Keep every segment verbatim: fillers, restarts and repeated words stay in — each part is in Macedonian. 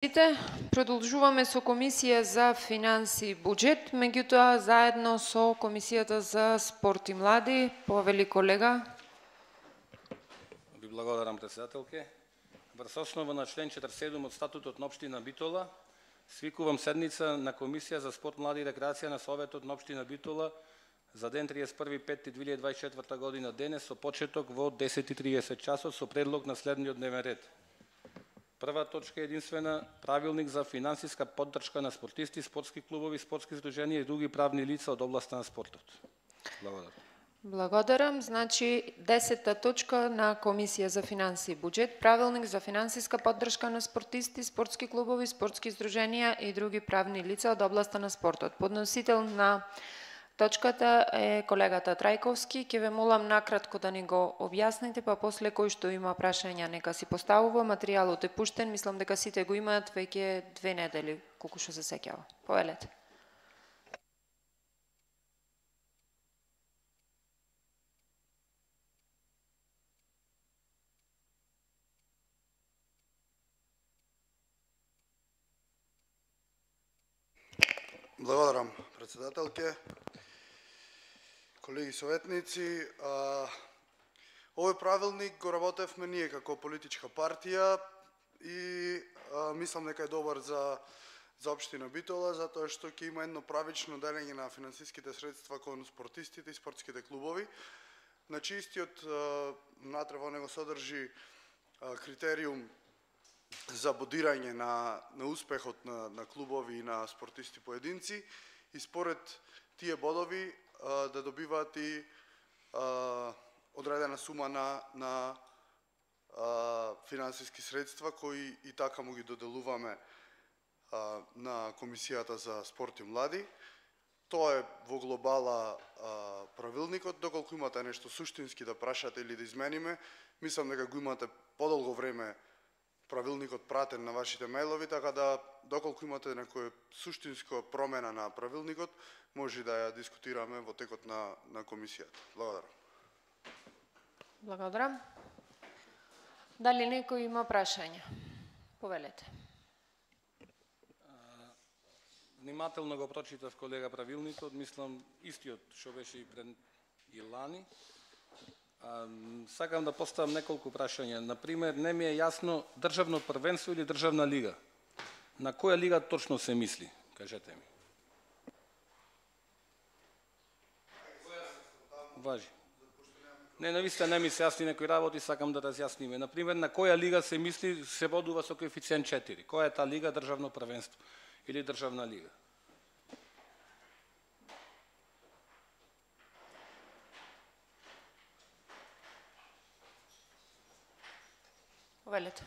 Продолжуваме со Комисија за финанси и буџет, меѓутоа заедно со Комисијата за спорт и млади. Повели колега. Ви благодарам, председателке. Врз основа на член четиридесет и седум од статутот на општина Битола, свикувам седница на Комисија за спорт, млади и рекреација на Советот на општина Битола за ден триесет и први пети две илјади дваесет и четврта година денес со почеток во десет и триесет часот со предлог на следниот дневен ред. Прва точка е единствена правилник за финансиска поддршка на спортисти, спортски клубови, спортски здруженија и други правни лица од областа на спортот. Благодарам. Благодарам. Значи, десета точка на Комисија за финанси и буџет, правилник за финансиска поддршка на спортисти, спортски клубови, спортски здруженија и други правни лица од областа на спортот. Подносител на точката е колегата Трајковски. Ќе ве молам накратко да ни го објасните, па после кој што има прашања нека си поставува. Материјалот е пуштен, мислам дека сите го имаат веќе две недели, колку што се сеќава. Повелете. Благодарам, председателке. Колеги советници, а, овој правилник го работевме ние како политичка партија и а, мислам дека е добар за за општина Битола, затоа што ќе има едно правично делење на финансиските средства кон спортистите и спортските клубови. Значи истиот внатре во него содржи а, критериум за бодирање на на успехот на на клубови и на спортисти поединци и според тие бодови да добиваат и а, одредена сума на на а, финансиски средства кои и така му ги доделуваме а, на Комисијата за спорт и млади. Тоа е во глобала а, правилникот. Доколку имате нешто суштински да прашате или да измениме, мислам дека го имате подолго време правилникот пратен на вашите мејлови, така да доколку имате некоја суштинска промена на правилникот, може да ја дискутираме во текот на на комисијата. Благодарам. Благодарам. Дали некој има прашања? Повелете. Внимателно го прочитав, колега, правилникот, мислам истиот што беше и пред и лани. А, сакам да поставам неколку прашања. Например, не ми е јасно државно првенство или државна лига. На која лига точно се мисли? Кажете ми. Важи. Не, навистина не ми се јасни некои работи, сакам да разјасниме. Например, на која лига се мисли се бодува со коефициент четири? Која е таа лига, државно првенство или државна лига? Повелете.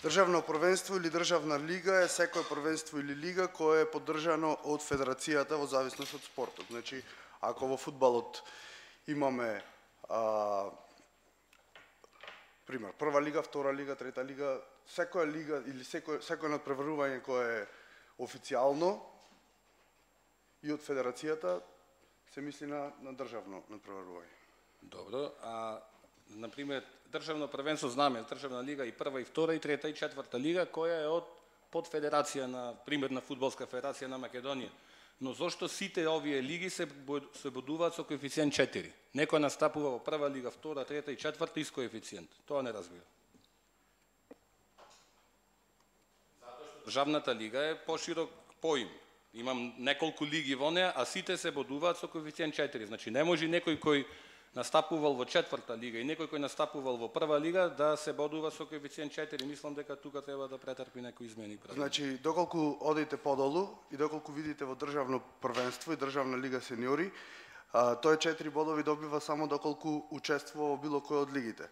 Државно првенство или државна лига е секое првенство или лига кое е поддржано од федерацијата во зависност од спортот. Значи, ако во фудбалот имаме а, пример, прва лига, втора лига, трета лига, секоја лига или секој секој надпреварување кое е официјално и од федерацијата се мисли на на државно надпреварување. Добро, а например, државно првенство знаме, државна лига и прва и втора и трета и четврта лига која е од под федерација на пример на фудбалска федерација на Македонија. Но зошто сите овие лиги се се бодуваат со коефициент четири? Некој настапува во прва лига, втора, трета и четврта и с коефициент. Тоа не разбира. Затоа што државната лига е поширок поим. Имам неколку лиги во неа, а сите се бодуваат со коефициент четири. Значи не може некој кој настапувал во четврта лига и некој кој настапувал во прва лига да се бодува со коефициент четири. Мислам дека тука треба да претрпи некои измени. Значи, доколку одите подолу и доколку видите во државно првенство и државна лига сениори, а, тој четири бодови добива само доколку учествува во било кој од лигите.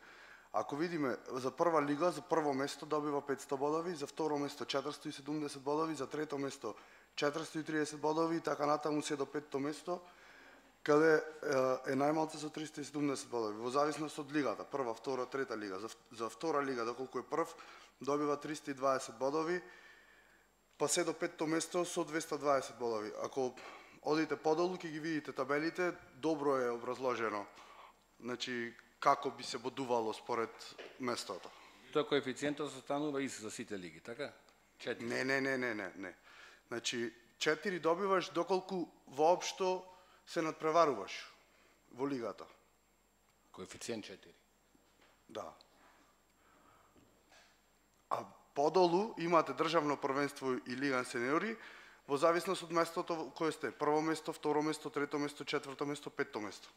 Ако видиме за прва лига, за прво место добива петсто бодови, за второ место четиристо и седумдесет бодови, за трето место четиристо и триесет бодови и така натаму се до петто место, каде е најмалце со триста и седумдесет бодови, во зависност од лигата, прва, втора, трета лига. За, за втора лига, доколку е прв, добива триста и дваесет бодови, па се до петто место со двеста и дваесет бодови. Ако одите подолу, ќе ги видите табелите, добро е образложено, значи, како би се бодувало според местото. Тоа коефициентот останува ист за сите лиги, така? четири. Не, не, не, не, не, не. Значи, четири добиваш доколку воопшто се надпреваруваш во лигата. Коефициент четири. Да. А подолу имате државно првенство и лига сеньори во зависност од местото кое сте. Прво место, второ место, трето место, четврто место, петто место.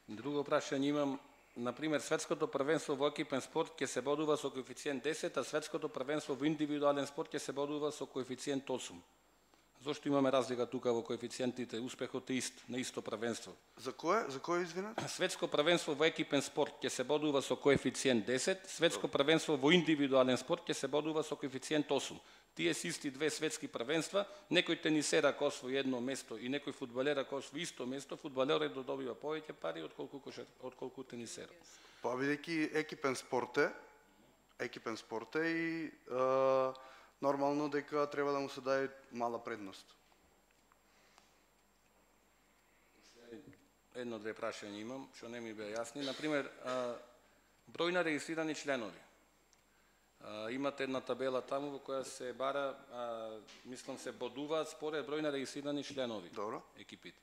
Друго прашање имам. Например, светското првенство во екипен спорт ќе се бодува со коефициент десет, а светското првенство во индивидуален спорт ќе се бодува со коефициент осум. Зошто имаме разлика тука во коефициентите? Успехот е ист на исто првенство. За кое? За кое извинете? Светско првенство во екипен спорт ќе се бодува со коефициент десет, светско првенство во индивидуален спорт ќе се бодува со коефициент осум. Тие се исти две светски првенства, некој тенисер ако освои едно место и некој фудбалер ако освои исто место, фудбалерот добива повеќе пари отколку кошар, отколку тенисерот. Па бидејќи екипен спорт е, екипен спорт е и е, нормално дека треба да му се даде мала предност. Едно-две прашања имам, што не ми беа јасни. Например, број на регистрирани членови. Имате една табела таму во која се бара, мислам се бодуваат според број на регистрирани членови. Добро. Екипите.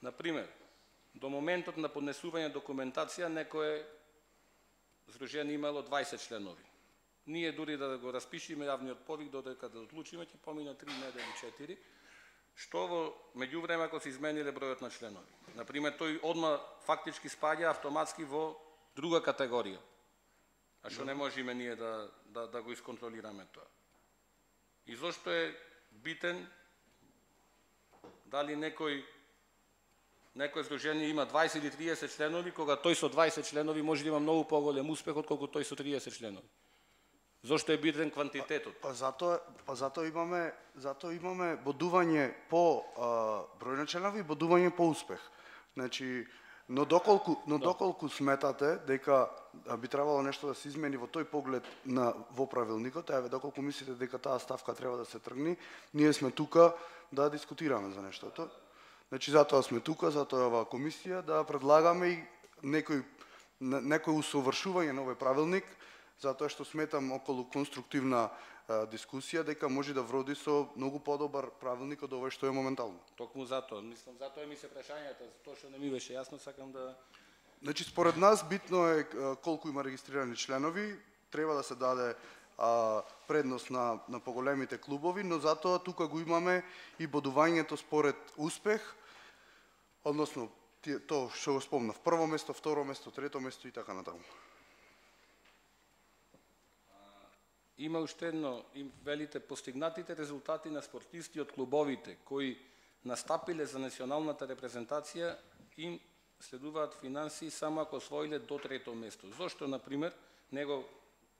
Например, до моментот на поднесување документација некое здружение имало дваесет членови. Ние дури да го распишиме јавниот повик додека да одлучиме ќе помина три недели, четири. Што во меѓувреме ако се измениле бројот на членови. Например, тој одма фактички спаѓа автоматски во друга категорија. А што не можеме ние да, да, да го исконтролираме тоа. И зошто е битен дали некој некој здружение има дваесет или триесет членови, кога тој со дваесет членови може да има многу поголем успех отколку тој со триесет членови. Зошто е битен квантитетот? Па, па затоа па затоа имаме затоа имаме бодување по а, број на членови и бодување по успех. Значи, но доколку но доколку сметате дека би требало нешто да се измени во тој поглед на во правилникот, еве доколку мислите дека таа ставка треба да се тргни, ние сме тука да дискутираме за нештото. Значи затоа сме тука, затоа е оваа комисија да предлагаме и некој некој усовршување на овој правилник, затоа што сметам околу конструктивна а, дискусија дека може да вроди со многу подобар правилник од овој што е моментално. Токму затоа, мислам, затоа ми се прашањата, тоа што не ми беше јасно, сакам да... Значи, според нас битно е а, колку има регистрирани членови, треба да се даде а, предност на, на поголемите клубови, но затоа тука го имаме и бодувањето според успех, односно тоа што го спомнав, прво место, второ место, трето место и така натаму. Има уште едно, им велите постигнатите резултати на спортисти од клубовите кои настапиле за националната репрезентација им следуваат финансии само ако освоиле до трето место. Зошто, например, него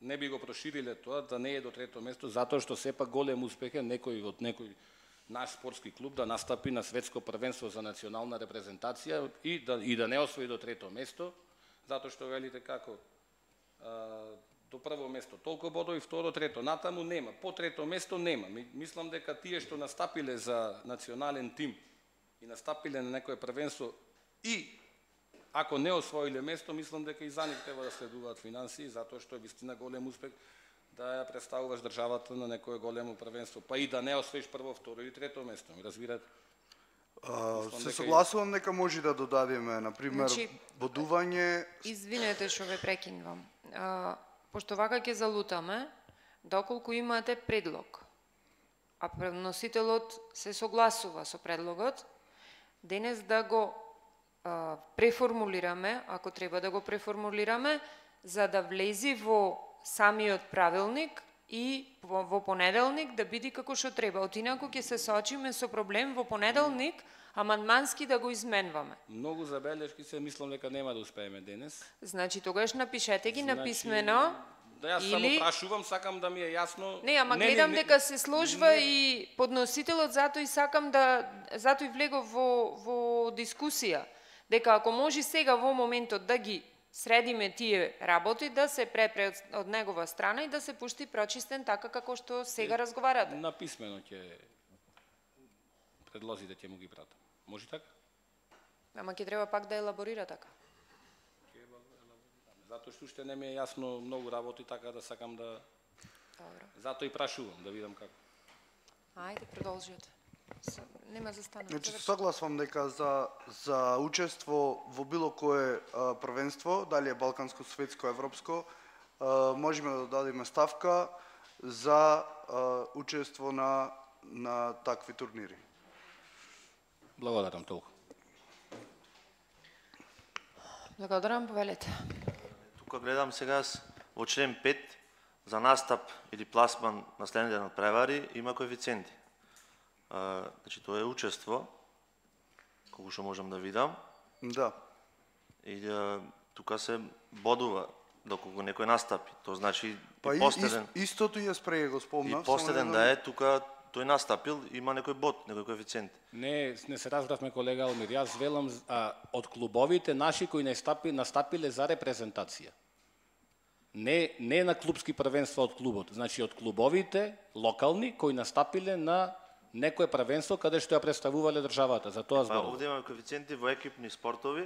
не би го прошириле тоа да не е до трето место, затоа што сепак голем успех е некој од некој наш спортски клуб да настапи на светско првенство за национална репрезентација и да и да не освои до трето место, затоа што велите како а, до прво место толку бодови, второ, трето, натаму нема, по трето место нема. Мислам дека тие што настапиле за национален тим и настапиле на некое првенство и ако не освоиле место, мислам дека и за нив треба да следуваат финансии, затоа што е вистина голем успех да ја представуваш државата на некое големо првенство, па и да не освоиш прво, второ или трето место, ми разбирате? Uh, се согласувам дека може да додадеме, например, Значи, бодување... Извинете што ве прекинувам. А, пошто вака ќе залутаме, доколку имате предлог, а преносителот се согласува со предлогот, денес да го а, преформулираме, ако треба да го преформулираме, за да влези во самиот правилник и во, во понеделник да биде како што треба. Отинаку ќе се соочиме со проблем во понеделник, амандмански да го изменваме. Многу забелешки се, мислам дека нема да успееме денес. Значи, тогаш напишете ги Значи, на писмено. Да јас или... само прашувам, сакам да ми е јасно. Не, ама гледам не, не, дека се сложва не... и подносителот, затоа и сакам да, затоа и влегов во, во дискусија, дека ако може сега во моментот да ги средиме тие работи, да се препре од негова страна и да се пушти прочистен така како што сега разговарате. На писмено ќе предлозите ќе му ги пратам. Може така? Ама ќе треба пак да елаборира така. Затоа што уште не ми е јасно многу работи, така да сакам да... Добро. Затоа и прашувам, да видам како. Ајде, продолжете. Нема застанува. Значи, согласувам дека за, за учество во било кое а, првенство, дали е балканско, светско, европско, а, можеме да дадеме ставка за а, учество на, на такви турнири. Благодарам толку. Благодарам, повелете. Тука гледам сега во член пет за настап или пласман на следните надпревари има коефициенти. А, значи тоа е учество, колку што можам да видам. Да. И а, тука се бодува доколку некој настапи. Тоа значи Па и и, последен, и, истото ја спреј го и спомнав. последен само да не е тука тој настапил, има некој бод, некој коефициент. Не, не се разбравме, колега Алмир. Јас велам а, од клубовите наши кои настапи, настапиле за репрезентација. Не, не на клубски првенства од клубот. Значи од клубовите локални кои настапиле на некое првенство каде што ја представувале државата. За тоа Па зборувам. овде имаме коефициенти во екипни спортови,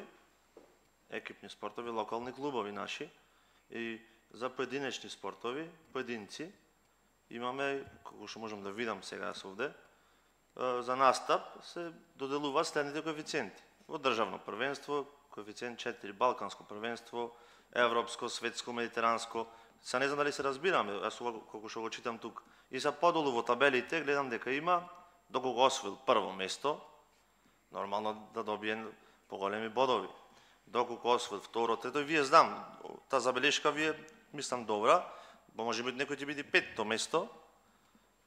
екипни спортови, локални клубови наши, и за поединечни спортови, поединци, имаме, како што можам да видам сега овде, за настап се доделуваат следните коефициенти. Во државно првенство, коефициент четири, балканско првенство, европско, светско, медитеранско. Са не знам дали се разбираме, јас ова колку што го читам тук. И за подолу во табелите гледам дека има, доколку освоил прво место, нормално да добие поголеми бодови. Доколку освоил второ, трето, вие знам, таа забелешка ви е, мислам, добра, бо може би некој ќе биде петто место,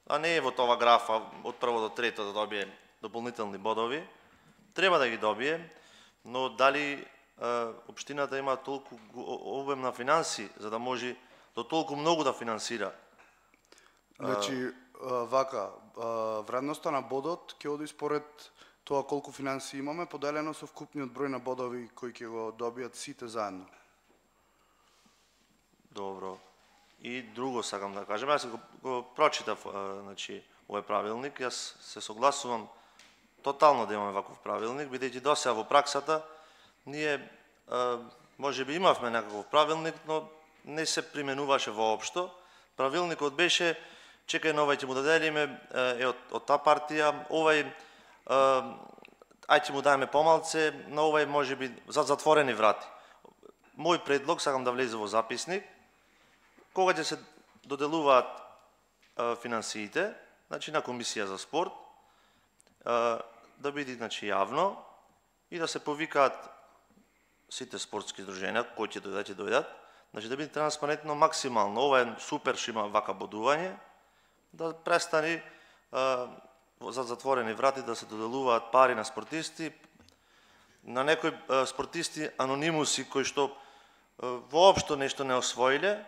а не е во тоа графа од прво до трето да добие дополнителни бодови. Треба да ги добие, но дали е, општината има толку обем на финанси за да може до толку многу да финансира? Значи, а, вака, а, вредноста на бодот ќе оди според тоа колку финанси имаме, поделено со вкупниот број на бодови кои ќе го добијат сите заедно. Добро. И друго сакам да кажем, јас го, го прочитав, а, значи, овој правилник, јас се согласувам тотално да имаме ваков правилник, бидејќи досега во праксата ние а, може би имавме некаков правилник, но не се применуваше воопшто. Правилникот беше чекај на овај ќе му доделиме е од, од таа партија, овај ај ќе му даеме помалце, на овај може би за затворени врати. Мој предлог, сакам да влезе во записник, кога ќе се доделуваат а, финансиите, значи на комисија за спорт, а, да биде значи јавно и да се повикаат сите спортски здруженија кои ќе дојдат ќе дојдат, значи да биде транспарентно максимално. Ова е супер што има вака бодување, да престани а, за затворени врати да се доделуваат пари на спортисти, на некои а, спортисти анонимуси кои што а, воопшто нешто не освоиле,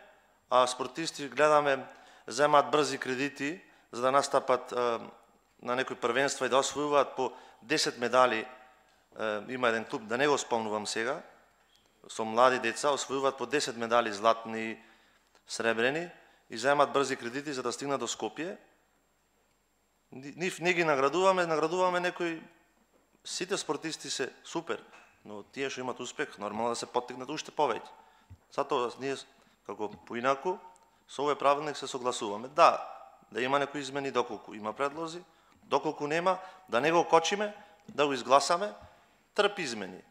а спортисти гледаме земаат брзи кредити за да настапат а, на некои првенства и да освојуваат по десет медали. А, има еден клуб, да не го спомнувам сега, со млади деца освојуваат по десет медали златни, сребрени и земаат брзи кредити за да стигнат до Скопје. Нив не ги наградуваме, наградуваме некои, сите спортисти се супер, но тие што имат успех, нормално да се поттикнат уште повеќе. Затоа ние, како поинаку, со овој правилник се согласуваме. Да, да има некои измени доколку има предлози, доколку нема, да не го кочиме, да го изгласаме, трпи измени.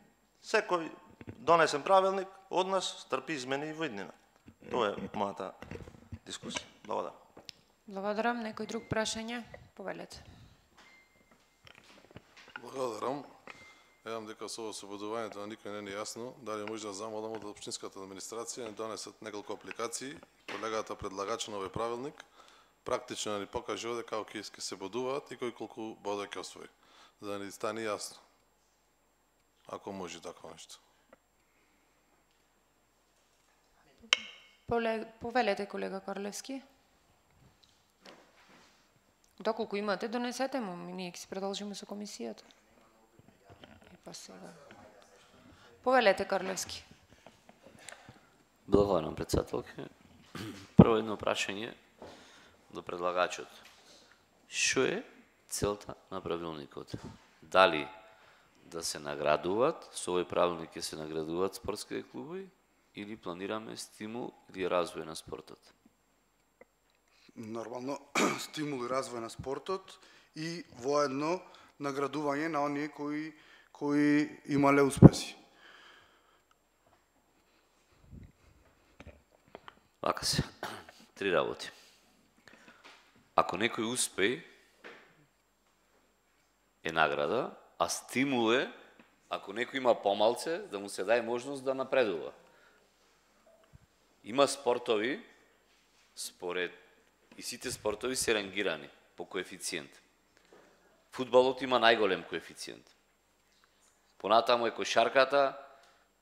Секој донесен правилник од нас трпи измени и во иднина. Тоа е мојата дискусија. Благодарам. Благодарам. Некој друг прашање? Повелете. Благодарам. Едам дека со освободувањето на никој не е јасно, дали може да замолам од општинската администрација не донесат неколку апликации, колегата предлагач на овој правилник, практично да ни покаже овде како ќе се бодуваат и кој колку бодови ќе освои, за да ни стане јасно. Ако може такво нешто. Повелете, колега Корлевски. Доколку имате, донесете му, ние ќе се продолжиме со комисијата. И па сега. Повелете, Корлевски. Благодарам, председателке. Прво едно прашање до предлагачот. Што е целта на правилникот? Дали да се наградуваат, со овој правилник ќе се наградуваат спортските клубови, или планираме стимул или развој на спортот? Нормално стимул и развој на спортот и воедно наградување на оние кои кои имале успеси. Вака се, три работи. Ако некој успеј, е награда, а стимул е, ако некој има помалце, да му се даде можност да напредува. Има спортови, според, и сите спортови се рангирани по коефициент. Фудбалот има најголем коефициент. Понатаму е кошарката,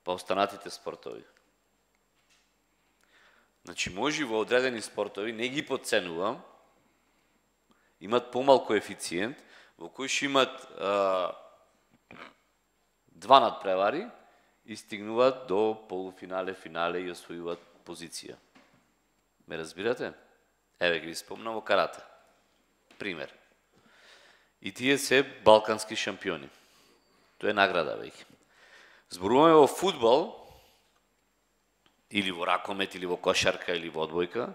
па останатите спортови. Значи, може во одредени спортови, не ги подценувам, имат помал коефициент, во кој ще имат а, два надпревари и стигнуваат до полуфинале, финале и освојуваат позиција. Ме разбирате? Еве ги спомнам во карате. Пример. И тие се балкански шампиони. Тоа е награда веќе. Зборуваме во фудбал, или во ракомет, или во кошарка, или во одбојка,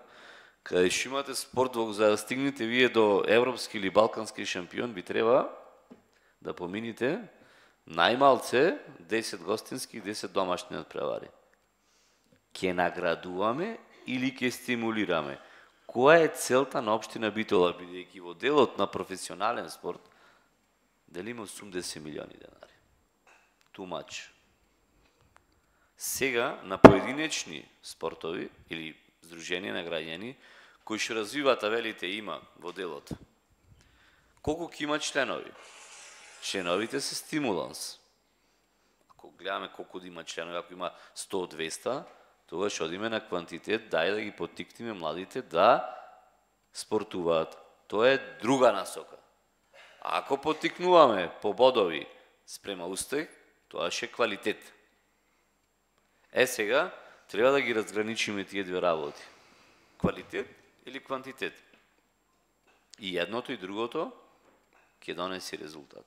каде што имате спорт, за да стигнете вие до европски или балкански шампион, би треба да помините најмалце десет гостински и десет домашни надпревари. Ке наградуваме или ке стимулираме? Која е целта на општина Битола, бидејќи во делот на професионален спорт делиме осумдесет милиони денари? Too much. Сега на поединечни спортови или здруженија на граѓани кои што развиваат, а велите има во делот. Колку ќе има членови? Членовите се стимуланс. Ако гледаме колку да има членови, ако има сто до двесте, тогаш одиме на квантитет, дај да ги поттикнеме младите да спортуваат. Тоа е друга насока. А ако поттикнуваме по бодови спрема успех, тоа е квалитет. Е сега, треба да ги разграничиме тие две работи. Квалитет или квантитет. И едното и другото ќе донеси резултат.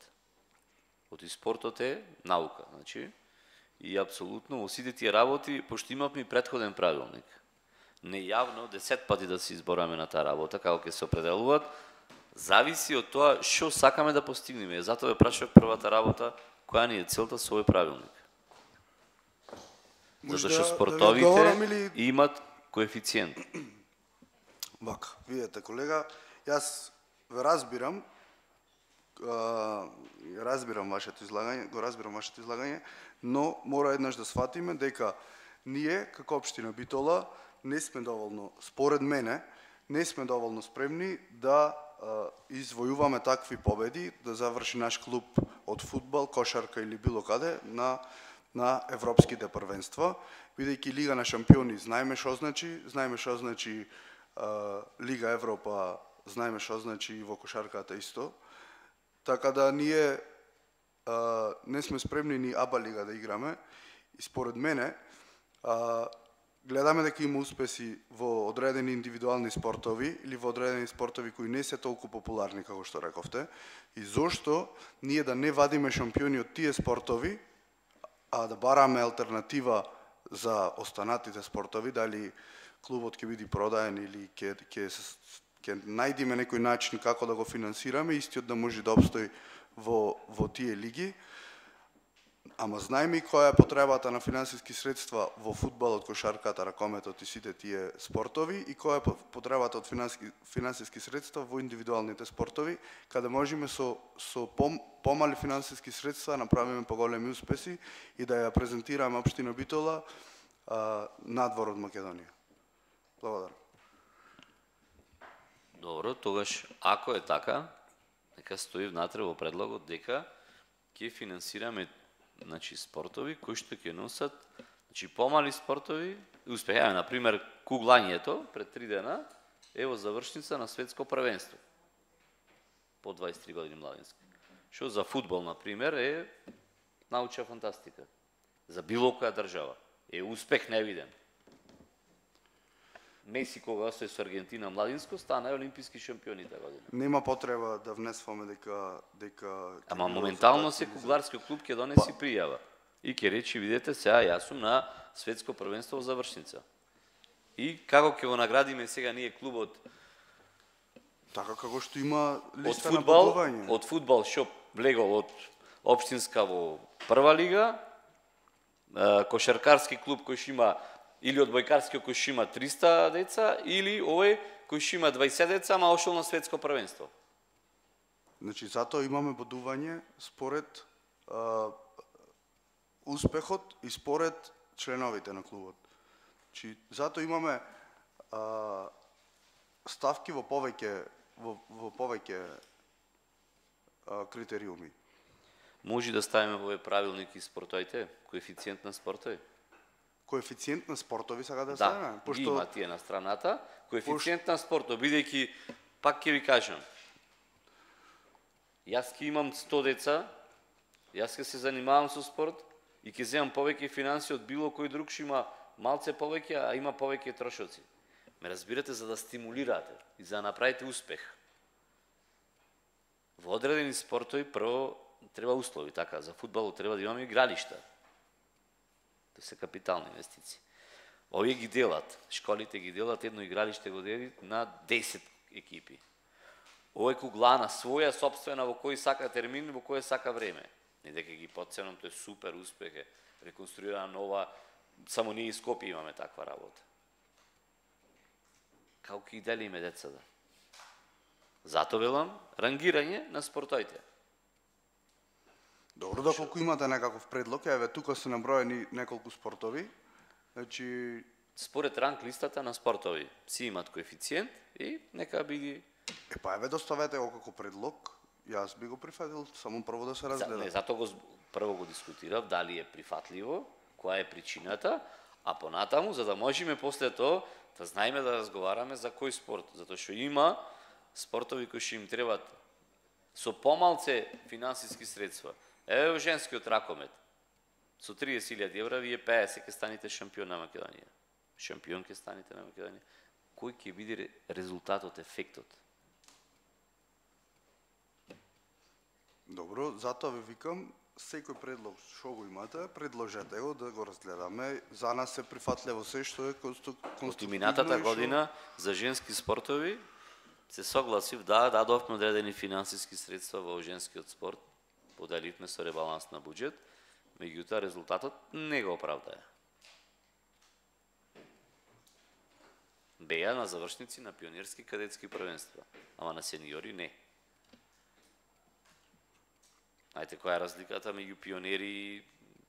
Оти спортот е наука, значи, и апсолутно во сите тие работи, пошто имавме претходен правилник. Нејавно, десет пати да се избораме на таа работа, како ќе се определуваат, зависи од тоа што сакаме да постигнеме. Затоа ве прашав првата работа, која ни е целта со овој правилник. Затоа што спортовите имат коефициент. Вака, видете, колега, јас ве разбирам, разбирам вашето излагање, го разбирам вашето излагање, но мора еднаш да сватиме дека ние, како општина Битола, не сме доволно, според мене, не сме доволно спремни да извојуваме такви победи, да заврши наш клуб од фудбал, кошарка или било каде на на европските првенства, бидејќи Лига на шампиони знаеме што значи, знаеме што значи а, Лига Европа, знаеме што значи и во кошарката исто. Така да ние а, не сме спремни ни АБА лига да играме и според мене а, гледаме дека има успеси во одредени индивидуални спортови или во одредени спортови кои не се толку популарни како што рековте, и зошто ние да не вадиме шампиони од тие спортови, а да бараме алтернатива за останатите спортови, дали клубот ќе биде продаен или ќе ќе ќе најдеме некој начин како да го финансираме, истиот да може да обстои во во тие лиги. Ама знаеме и која е потребата на финансиски средства во фудбалот, кошарката, ракометот и сите тие спортови, и која е потребата од финансиски, финансиски средства во индивидуалните спортови, каде можеме со, со пом, помали финансиски средства направиме поголеми успеси и да ја презентираме општина Битола а, надвор од Македонија. Благодарам. Добро, тогаш, ако е така, нека стои внатре во предлогот дека ќе финансираме, значи, спортови кои што ќе носат, значи, помали спортови успеха. На пример, куглањето пред три дена е во завршница на светско првенство по дваесет и три години младински. Што за фудбал, на пример, е научна фантастика. За било која држава е успех невиден. Меси, кога се со Аргентина младинско, стана олимписки шампиони таа година. Нема потреба да внесваме дека дека Ама моментално се кугларски клуб ќе донеси пријава. И ќе речи, видете, сега јас сум на светско првенство во завршница. И како ќе го наградиме сега ние клубот Така како што има од листа на фудбал, бодување. од фудбал што влегол од општинска во прва лига, е, кошаркарски клуб кој што има или одбојкарски кој што има триста деца, или овој кој што има дваесет деца, ама ошол на светско првенство. Значи, затоа имаме бодување според а, успехот и според членовите на клубот. Значи, затоа имаме а, ставки во повеќе во, во повеќе а, критериуми. Може да ставиме во овој правилник и спортовите, коефициент на спортови. Коефициент на спортови сака да Да, ставиме, ги има тие на страната, коефициент на спортот, бидејќи, пак ќе ви кажам, јас ќе имам сто деца, јас ќе се занимавам со спорт и ќе земам повеќе финанси од било кој друг што има малце повеќе, а има повеќе трошоци. Ме разбирате, за да стимулирате и за да направите успех. Во одредени спортови прво треба услови, така, за фудбалот треба да имаме игралишта. Тоа се капитални инвестиции. Овие ги делат, школите ги делат, едно игралиште го дели на десет екипи. Ова е куглана своја, собствена, во кој сака термин, во кој сака време. Не дека ги подценам, тоа е супер успех, е реконструирана нова, само ние и Скопје имаме таква работа. Како ќе ги делиме децата? Зато велам, рангирање на спортовите. Добро, доколку имате некаков предлог, еве тука се наброени неколку спортови. Значи, Според ранг листата на спортови си имат коефициент и нека биде. е па еве доставете го како предлог. Јас би го прифатил, само прво да се За, разгледа. не, зато го зб- прво го дискутирав дали е прифатливо, која е причината, а понатаму за да можеме после тоа да знаеме да разговараме за кој спорт, затоа што има спортови кои што им требаат со помалце финансиски средства. Еве во женскиот ракомет. Со триесет илјади евра вие пеесет ќе станете шампион на Македонија. Шампион ќе станете на Македонија. Кој ќе биде резултатот, ефектот? Добро, затоа ви викам, секој предлог што го имате, предложете го да го разгледаме. За нас е прифатливо се што е конструк- Од конструктивно. минатата и што- година за женски спортови се согласив, да, дадовме одредени финансиски средства во женскиот спорт, поделивме со ребаланс на буџет, меѓутоа резултатот не го оправдаа. Беа на завршници на пионерски кадетски првенства, ама на сениори не. Ајте, која е разликата меѓу пионери,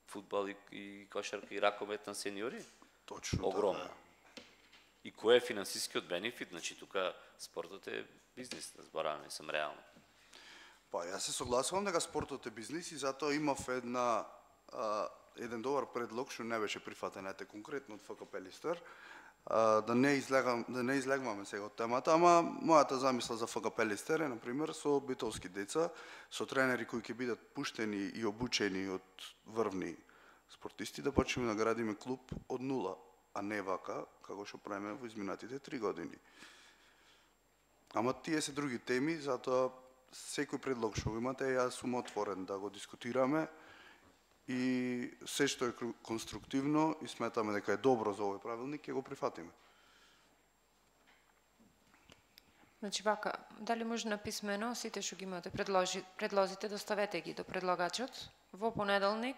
фудбал и, и кошарка и ракомет на сениори? Точно Огромно. така. И кој е финансискиот бенефит? Значи, тука спортот е бизнис, да збораваме, сам реално. Па, јас се согласувам дека спортот е бизнис и затоа имав една, а, еден добар предлог што не беше прифатен, ете конкретно од ФКП Листер, а, да не излегам, да не излегваме сега од темата, ама мојата замисла за ФКП Листер е, например, со битолски деца, со тренери кои ќе бидат пуштени и обучени од врвни спортисти, да почнеме да градиме клуб од нула, а не вака, како што правиме во изминатите три години. Ама тие се други теми, затоа секој предлог што го имате, јас сум отворен да го дискутираме и се што е кру- конструктивно и сметаме дека е добро за овој правилник, ќе го прифатиме. Значи вака, дали може на писмено, сите што ги имате предложи, предлозите, доставете ги до предлагачот. Во понеделник,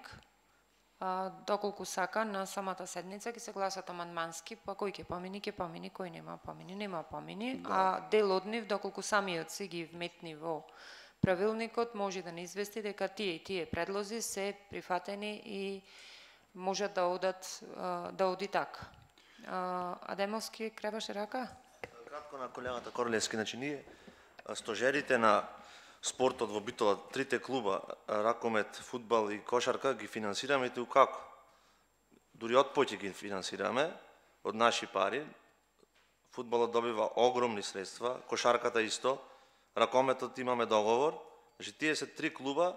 а, доколку сака, на самата седница ќе се гласат амандмански, па кој ќе помини, ќе помини, кој нема помини, нема помини, да. А дел од нив, доколку самиот си ги вметни во правилникот, може да не извести дека тие и тие предлози се прифатени и можат да одат, а, да оди така. А, Адемовски кребаше рака? Кратко на колегата Корлевски, значи ние а, стожерите на спортот во Битола, трите клуба, а, ракомет, фудбал и кошарка, ги финансираме и ту како? Дури од поќе ги финансираме, од наши пари. Фудбалот добива огромни средства, кошарката исто, ракометот имаме договор. Значи тие се три клуба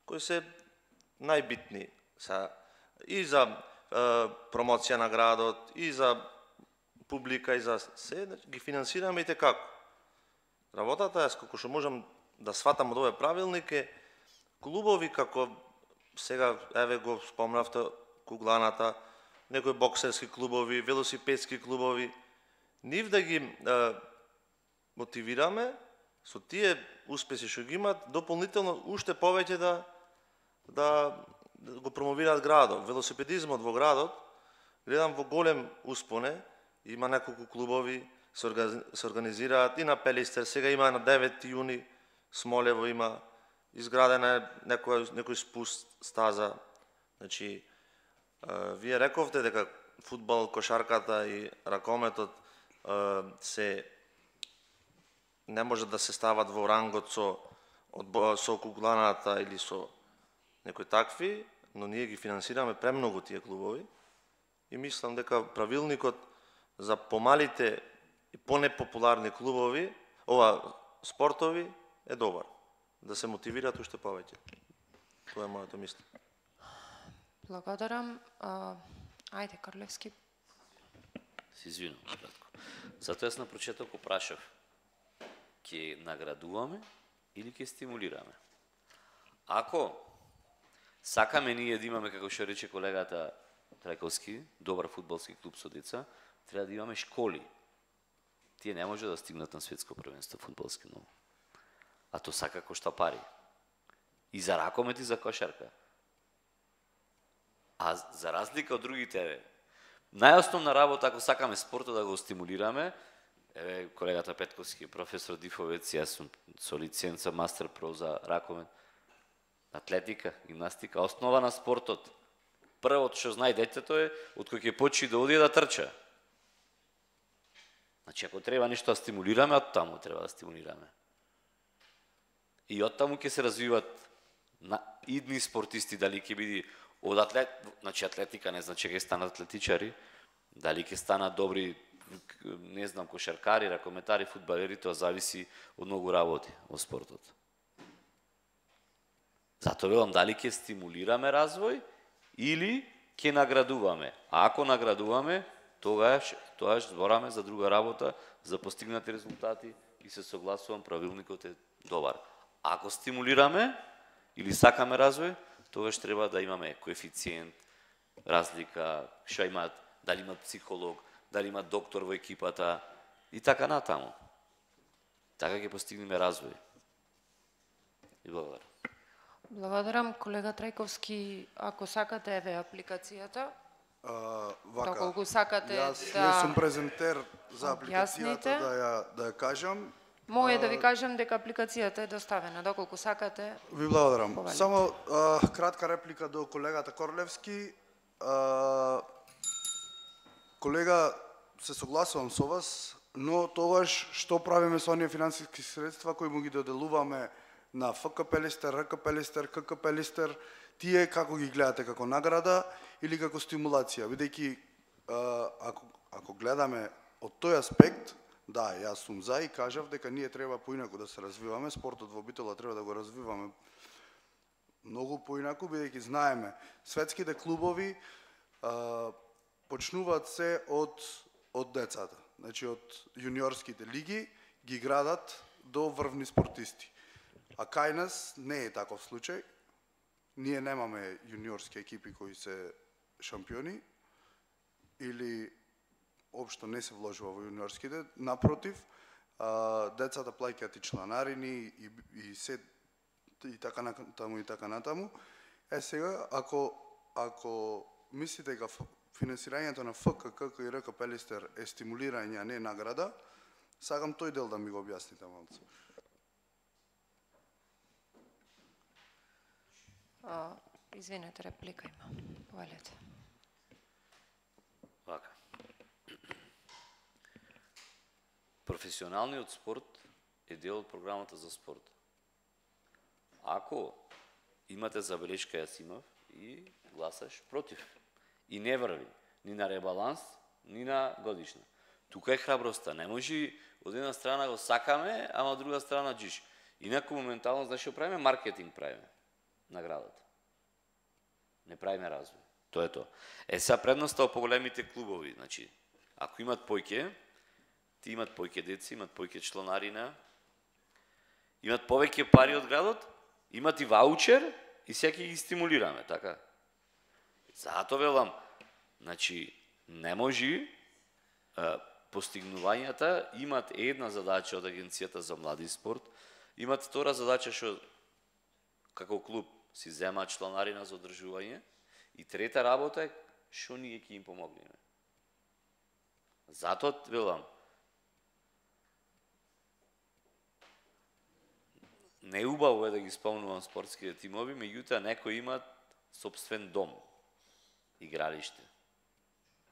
кои се најбитни са и за е, промоција на градот, и за публика, и за се, значи, ги финансираме и те како. Работата е, како што можам да сватам од овој правилник, е клубови како сега еве го спомнавте кугланата, некои боксерски клубови, велосипедски клубови, нив да ги е, мотивираме со тие успеси што ги имат, дополнително уште повеќе да да го промовираат градот. Велосипедизмот во градот гледам во голем успоне, има неколку клубови се организираат и на Пелистер, сега има на девети јуни, Смолево има изградена е некој некој спуст стаза. Значи вие рековте дека фудбал, кошарката и ракометот се не може да се стават во рангот со со кугланата или со некои такви, но ние ги финансираме премногу тие клубови и мислам дека правилникот за помалите и понепопуларни клубови, ова спортови е добар, да се мотивираат уште повеќе. Тоа е моето мислење. Благодарам. А, ајде, Карлевски. Се извинувам кратко. Затоа јас на прочеток прашав, ќе наградуваме или ќе стимулираме? Ако сакаме ние да имаме, како што рече колегата Трајковски, добар фудбалски клуб со деца, треба да имаме школи. Тие не може да стигнат на светско првенство фудбалски многу. А то сака кошта пари. И за ракомет и за кошарка. А за разлика од другите, најосновна работа, ако сакаме спортот да го стимулираме, еве колегата Петковски, професор Дифовец, јас сум со лиценца Мастер Про за ракомет, атлетика, гимнастика, основа на спортот. Првото што знае детето е од кој ќе почне да оди да трча. Значи, ако треба нешто да стимулираме, од таму треба да стимулираме. И од таму ќе се развиват на идни спортисти, дали ќе биде од атлет, значи атлетика не значи ќе станат атлетичари, дали ќе станат добри, не знам, кошаркари, ракометари, фудбалери, тоа зависи од многу работи во спортот. Затоа велам дали ќе стимулираме развој или ќе наградуваме. А ако наградуваме, тогаш тогаш збораме за друга работа, за постигнати резултати и се согласувам, правилникот е добар. Ако стимулираме или сакаме развој, тогаш треба да имаме коефициент, разлика, што имаат, дали имаат психолог, дали имаат доктор во екипата и така натаму. Така ќе постигнеме развој. И благодарам. Благодарам, колега Трајковски. Ако сакате, еве апликацијата. А, вака, Доколку сакате јас да не сум презентер за апликацијата објасните. да ја да ја кажам. Може да ви кажам дека апликацијата е доставена, доколку сакате. Ви благодарам. Повелите. Само а, кратка реплика до колегата Корлевски. А, колега, се согласувам со вас, но тогаш што правиме со оние финансиски средства кои му ги доделуваме на Ф К Пелистер, Р К Пелистер, К К Пелистер, тие како ги гледате, како награда или како стимулација? Бидејќи ако ако гледаме од тој аспект, да, јас сум за и кажав дека ние треба поинаку да се развиваме, спортот во Битола треба да го развиваме многу поинаку, бидејќи знаеме, светските клубови а, почнуваат се од од децата. Значи од јуниорските лиги ги градат до врвни спортисти. А кај нас не е таков случај. Ние немаме јуниорски екипи кои се шампиони или општо не се вложува во јуниорските. Напротив, а, децата плаќаат и чланарини и, и се и така натаму и така натаму. Е сега, ако ако мислите дека финансирањето на Ф К, К К и Р К Пелистер е стимулирање, а не награда, сакам тој дел да ми го објасните малку. А, извинете, реплика има. Повелете. Вака. Професионалниот спорт е дел од програмата за спорт. Ако имате забелешка, јас имав, и гласаш против. И не врви ни на ребаланс, ни на годишна. Тука е храброста. Не може од една страна го сакаме, ама од друга страна джиш. Инаку моментално, знаеш што правиме? Маркетинг правиме на градот. Не правиме развој. Тоа е тоа. Е, сега предноста по големите клубови, значи, ако имат појке, ти имат појке деца, имат појке чланарина, имат повеќе пари од градот, имат и ваучер и сега ќе ги стимулираме, така? Затоа велам, значи, не може а, постигнувањата имат една задача од Агенцијата за млади спорт, имат втора задача што како клуб си зема чланарина за одржување и трета работа е што ние ќе им помогнеме. Затоа велам, не убаво е да ги спомнувам спортските тимови, меѓутоа некои имат собствен дом, игралиште,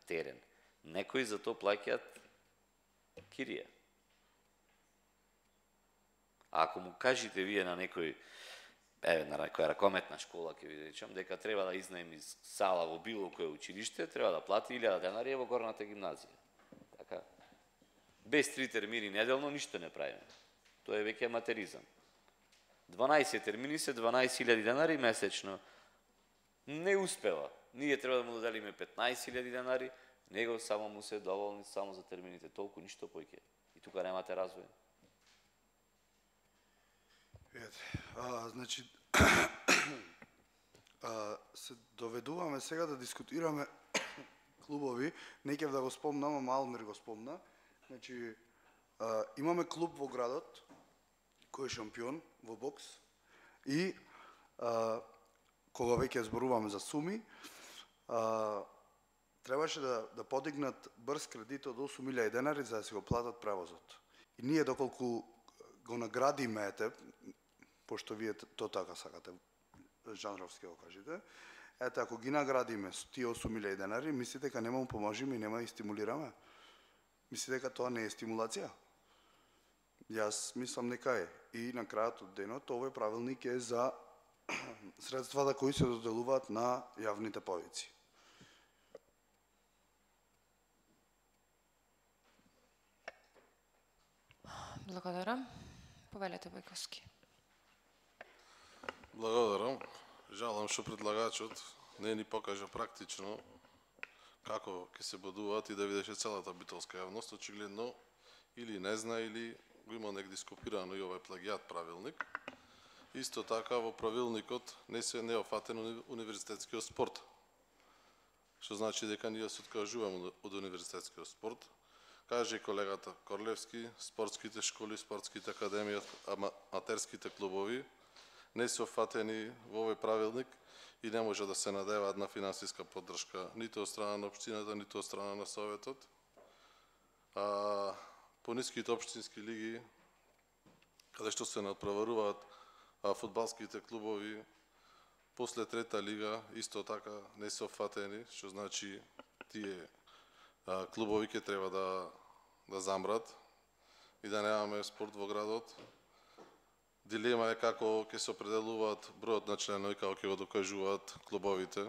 терен. Некои за тоа плаќаат кирија. А ако му кажете вие на некој, еве на некоја ракометна школа, ќе ви речам, дека треба да изнаеми сала во било кое училиште, треба да плати илјада денари во горната гимназија. Така. Без три термини неделно ништо не правиме. Тоа е веќе аматеризам. дванаесет термини се дванаесет илјади денари месечно. Не успева. Ние треба да му доделиме петнаесет илјади денари, него само му се доволни само за термините, толку ништо поќе. И тука немате развој. Ете, а, значи, а, се доведуваме сега да дискутираме клубови, не ќе да го спомнам, ама Алмир го спомна. Значи, а, имаме клуб во градот, кој е шампион во бокс, и а, кога веќе зборуваме за суми, а, требаше да, да подигнат брз кредит од осум илјади денари за да си го платат превозот. И ние доколку го наградиме, ете, пошто вие то така сакате, жанровски го кажете, ете, ако ги наградиме со тие осум илјади денари, мислите дека нема му поможиме и нема да ги стимулираме? Мислите дека тоа не е стимулација? Јас мислам дека е. И на крајот од денот овој правилник е за средствата кои се доделуваат на јавните повици. Благодарам. Повелете Бојковски. Благодарам. Жалам што предлагачот не ни покажа практично како ќе се бодуваат и да видеше целата битолска јавност. Очигледно или не зна, или го има негде скопирано и овој плагијат правилник. Исто така во правилникот не се не офатен универзитетскиот спорт. Што значи дека ние се откажуваме од универзитетскиот спорт. Каже и колегата Корлевски, спортските школи, спортските академии, аматерските клубови не се офатени во овој правилник и не може да се надеваат на финансиска поддршка ниту од страна на општината, ниту од страна на советот. А, по ниските општински лиги, каде што се надпреваруваат фудбалските клубови, после трета лига исто така не се офатени, што значи тие а, клубови ќе треба да да замрат и да немаме спорт во градот. Дилема е како ќе се определуваат бројот на членови, како ќе го докажуваат клубовите,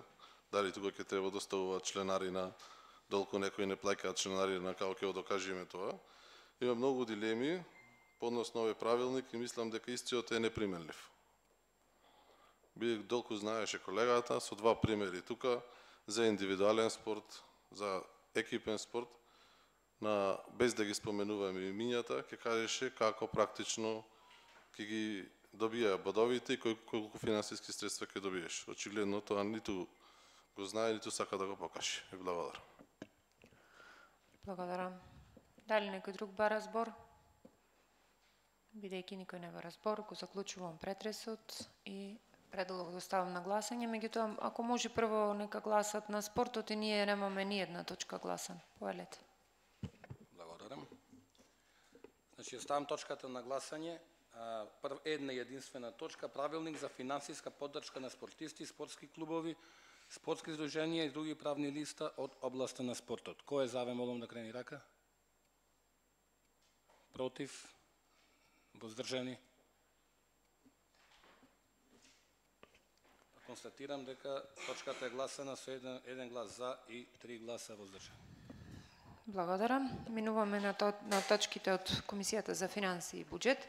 дали тука ќе треба да доставуваат членарина, долку некои не плаќаат членарина, како ќе го докажеме тоа. Има многу дилеми по однос на овој правилник и мислам дека истиот е неприменлив. Би долку знаеше колегата со два примери тука за индивидуален спорт, за екипен спорт, на без да ги споменуваме имињата, ќе кажеше како практично ќе ги добија бодовите и колку финансиски средства ќе добиеш. Очигледно тоа ниту го знае, ниту сака да го покаже. И благодарам. Благодарам. Дали некој друг бара збор? Бидејќи никој не бара збор, го заклучувам претресот и предлог го ставам на гласање. Меѓутоа, ако може прво нека гласат на спортот и ние немаме ни една точка гласан. Повелете. Благодарам. Значи, ставам точката на гласање. Прв, една единствена точка, правилник за финансиска поддршка на спортисти, спортски клубови, спортски здруженија и други правни листа од областа на спортот. Кој е за, ве молам да крени рака? Против? Воздржани? Констатирам дека точката е гласана со еден, еден глас за и три гласа воздржани. Благодарам. Минуваме на, то, на точките од Комисијата за финанси и буџет.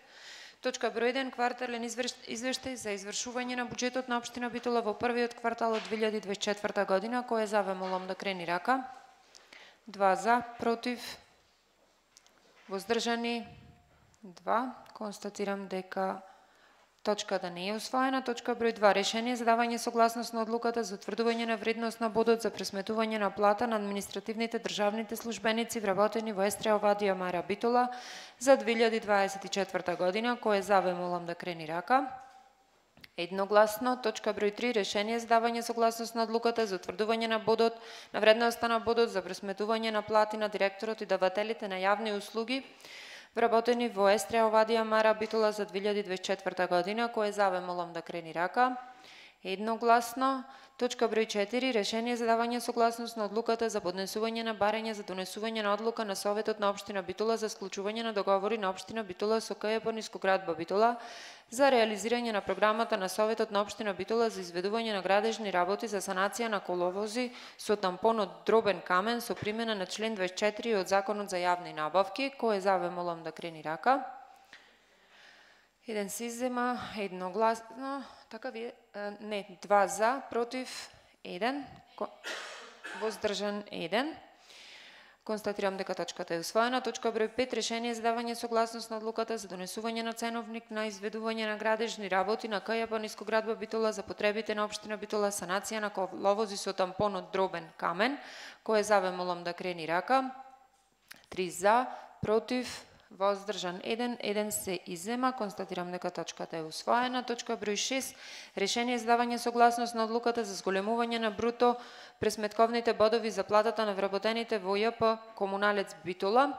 Точка број еден, квартален извештај за извршување на буџетот на општина Битола во првиот квартал од две илјади дваесет и четврта година. Кој е за, ве молам да крени рака? Два за, против, воздржани, два. Констатирам дека Точката не е усвоена. Точка број два. Решение за давање согласност на одлуката за утврдување на вредност на бодот за пресметување на плата на административните државните службеници вработени во Естрија Овадија Мара Битола за две илјади дваесет и четврта година, кој за ве молам да крени рака. Едногласно. Точка број три. Решение за давање согласност на одлуката за утврдување на бодот на вредноста на бодот за пресметување на плати на директорот и давателите на јавни услуги вработени во Естрија Овадија Мара Битола за две илјади дваесет и четврта година, кој за ве молам да крени рака. Едногласно. Точка број четири. Решение за давање согласност на одлуката за поднесување на барање за донесување на одлука на Советот на општина Битола за склучување на договори на општина Битола со КЈП Нискоградба Битола за реализирање на програмата на Советот на општина Битола за изведување на градежни работи за санација на коловози со тампон од дробен камен со примена на член дваесет и четири од Законот за јавни набавки, кој за ве молам да крени рака. Еден се иззема едногласно, така вие, не, два за, против, еден, воздржан еден. Констатирам дека точката е усвоена. Точка број пет. Решение за давање согласност на одлуката за донесување на ценовник на изведување на градежни работи на КЈП Нискоградба Битола за потребите на општина Битола, санација на коловози со тампон од дробен камен, кој за ве молам да крени рака. три за, против, воздржан еден, еден се иззема. Констатирам дека точката е усвоена. Точка број шест. Решение за давање согласност на одлуката за зголемување на бруто пресметковните бодови за платата на вработените во ЈП Комуналец Битола,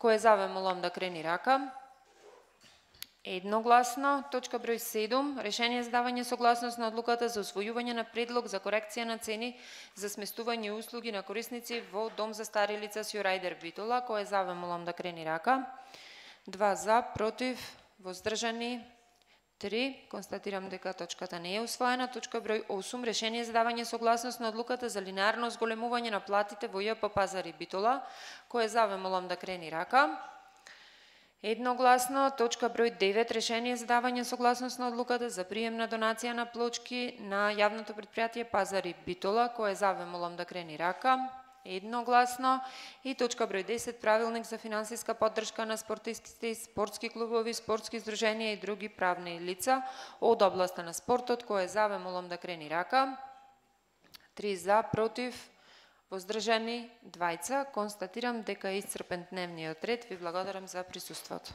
кој за ве молам да крени рака. Едногласно. Точка број седум. Решение за давање согласност на одлуката за усвојување на предлог за корекција на цени за сместување услуги на корисници во Дом за стари лица Сјорајдер Битола, кој за ве молам да крени рака. два за, против, воздржани три. Констатирам дека точката не е усвоена. Точка број осум. Решение за давање согласност на одлуката за линеарно зголемување на платите во ЈП Пазари Битола, кој за ве молам да крени рака. Едногласно. Точка број девет. Решение за давање согласност на одлуката за прием на донација на плочки на јавното предпријатие Пазари Битола, кој за ве молам да крени рака. Едногласно. И точка број десет. Правилник за финансиска поддршка на спортистите, спортски клубови, спортски здруженија и други правни лица од областа на спортот, кој за ве молам да крени рака. три за, против, воздржани двајца. Констатирам дека е исцрпен дневниот ред. Ви благодарам за присуството.